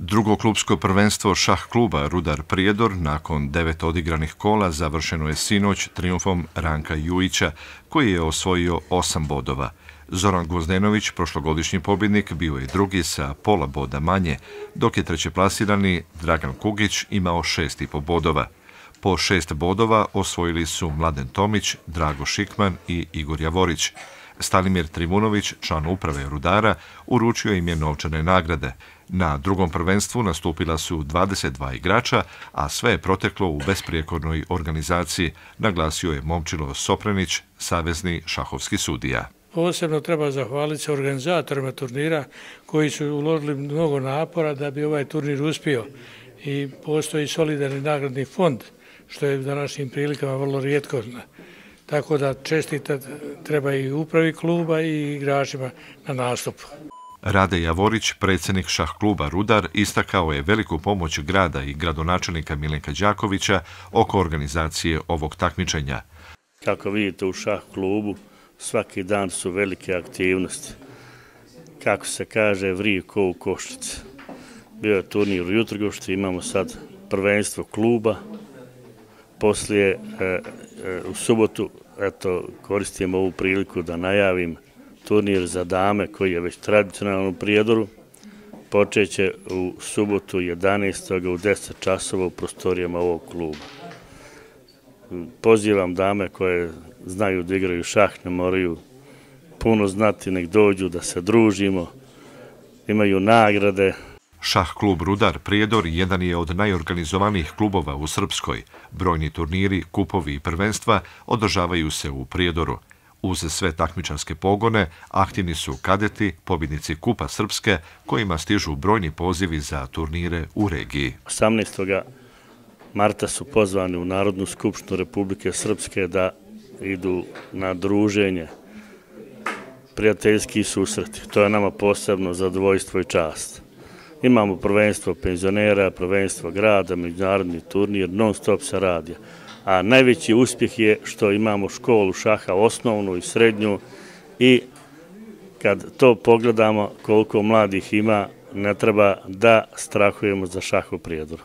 Drugo klubsko prvenstvo šah kluba Rudar Prijedor nakon 9 odigranih kola završeno je sinoć trijumfom Ranka Jujića, koji je osvojio 8 bodova. Zoran Gvozdenović, prošlogodišnji pobjednik, bio je drugi sa pola boda manje, dok je trećeplasirani Dragan Kugić imao 6,5 bodova. Po 6 bodova osvojili su Mladen Tomić, Drago Šikman i Igor Javorić. Stanimir Trivunović, član uprave Rudara, uručio im je novčane nagrade. Na drugom prvenstvu nastupila su 22 igrača, a sve je proteklo u besprijekornoj organizaciji, naglasio je Momčilo Soprenić, savezni šahovski sudija. Posebno treba zahvaliti se organizatorima turnira koji su uložili mnogo napora da bi ovaj turnir uspio i postoji solidarni nagradni fond, što je u današnjim prilikama vrlo rijetko. Tako da čestitati treba i upravi kluba i igračima na nastupu. Rade Javorić, predsjednik šah kluba Rudar, istakao je veliku pomoć grada i gradonačelnika Milenka Đakovića oko organizacije ovog takmičenja. Kako vidite, u šah klubu svaki dan su velike aktivnosti. Kako se kaže, vrije ko u košnici. Bio je turnir u Jutrgošti, imamo sad prvenstvo kluba. Poslije, u subotu, koristim ovu priliku da najavim turnir za dame koji je već tradicionalan u Prijedoru. Počeće u subotu 11. u 10 časova u prostorijama ovog kluba. Pozivam dame koje znaju da igraju šah, ne moraju puno znati, nek dođu da se družimo, imaju nagrade. Šah klub Rudar Prijedor jedan je od najorganizovanijih klubova u Srpskoj. Brojni turniri, kupovi i prvenstva održavaju se u Prijedoru. Uz sve takmičarske pogone, aktivni su kadeti, pobjednici Kupa Srpske, kojima stižu brojni pozivi za turnire u regiji. 18. marta su pozvani u Narodnu skupštinu Republike Srpske da idu na druženje, prijateljski susreti. To je nama posebno zadovoljstvo i čast. Imamo prvenstvo penzionera, prvenstvo grada, međunarodni turnir, non stop se radi. A najveći uspjeh je što imamo školu šaha, osnovnu i srednju, i kad to pogledamo koliko mladih ima, ne treba da strahujemo za šah u Prijedoru.